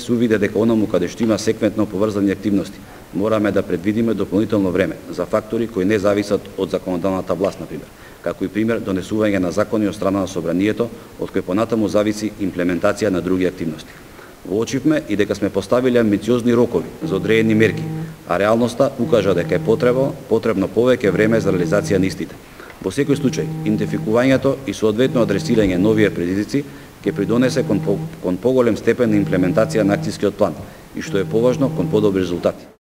се увиде дека онаму каде што има секвентно поврзани активности, мораме да предвидиме дополнително време за фактори кои не зависат од законодавната власт, например, како и пример донесување на закони од страна на собранието, од кој понатаму зависи имплементација на други активности. Воочивме и дека сме поставиле амбициозни рокови за одредени мерки, а реалноста укажа дека е потребно повеќе време за реализација на истите. Во секој случај, идентификувањето и соодветно адресирање на овие предизвици ќе придонесе кон поголем степен на имплементација на акцијскиот план и што е поважно, кон подобри резултати.